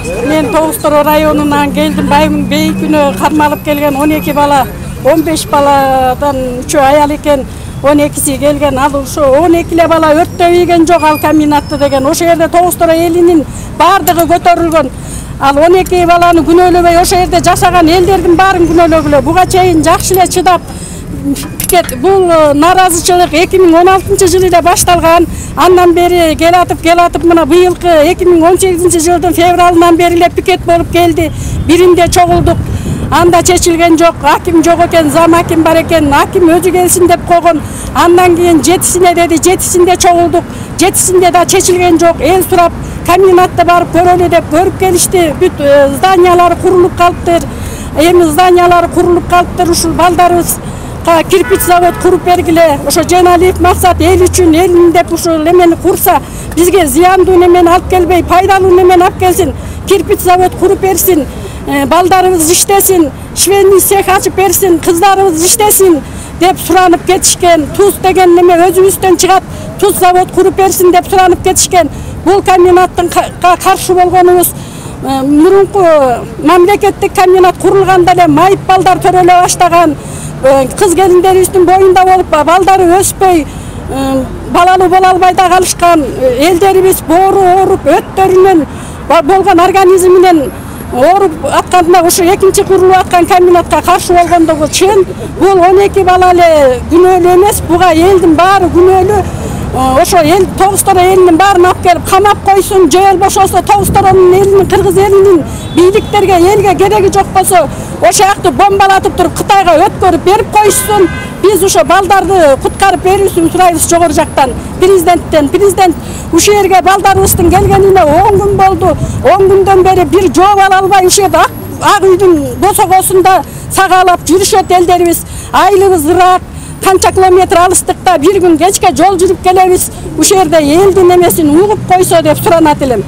Мен Тоғыстoro районунан келдим. Байымдын бейкүнө кармалып келген 12 бала, 15 баладан 3 аял экен, 12си келген. Ал ошо 12 бала өрттө ийген жок, ал комбинатты деген. Ошо жерде Тоғыстoro элинин бардыгы көтөрүлгөн. Ал 12 баланы күнөөлөбөй ошо жерде жашаган элдердин баарын күнөөлөгүлө. Буга чейин жакшы эле чыдап бул наразычылык 2016 жылы эле башталган. Андан бери келатып мына быйылкы 2018 жылдын февралынан бери эле пикет болуп келди. Биринде чогулдук. Анда чечилген жок. Аким жок экен, зам аким бар экен. Аким өзү келсин деп койгон. Андан кийин 7-сине деди, 7-синде чогулдук. 7-синде да чечилген жок. Эл сурап комбинатта барып көрөлү деп көрүп келишти. Бүт зданиялары курулуп калыптыр. Эми зданиялары курулуп калыптыр. Ушул балдарыбыз кирпич завод куруп бергиле. Ошо Женалиев Максат эл үчүн элин деп ушул эмени курса, бизге зыяндуу немени алып келбей, пайдалуу немени алып келсин. Кирпич завод куруп берсин, балдарыбыз иштесин, швейный цех ачып берсин, кыздарыбыз иштесин деп суранып кетишкен. Туз деген неме өзүбүздөн чыгат, туз завод куруп берсин деп суранып кетишкен. Бул комбинаттын каршы болгонубуз мурунку мамлекеттик комбинат курулганда эле майып балдар төрөлө баштаган. Кыз келиндерибиздин боюнда болуп, балдары өспөй, балалуу боло албай да калышкан. Элдерибиз боору ооруп, өттөрүнөн болгон организминен ооруп атканда ошо экинчи курулуп аткан комбинатка каршы болгондугу чын. Бул 12 бала эле күнөөлүү эмес, буга элдин баары күнөөлүү. Ошо эл Тоғыстoro элинин баарын алып келип камап койсун, же болбошосо Тоғысторонун элинин, кыргыз элинин бийликтерге, элге кереги жок болсо, ошо жакты бомбалатып туруп Кытайга өткөрүп берип коюшсун. Биз ошо балдарды куткарып берүүсүн сурайбыз жогору жактан, президенттен. Президент ушул жерге балдарыбыздын келгенине 10 күн болду. 10 күндөн бери бир жооп ала албай ушул жерде ак үйдүн босогосунда сагаалап жүрүшөт элдерибиз. Айлыбыз ырак, канча километр алыстыкта бир күн кечке жол жүрүп келебиз. Ушул жерде элдин эмесин угуп койсо деп суранат элем.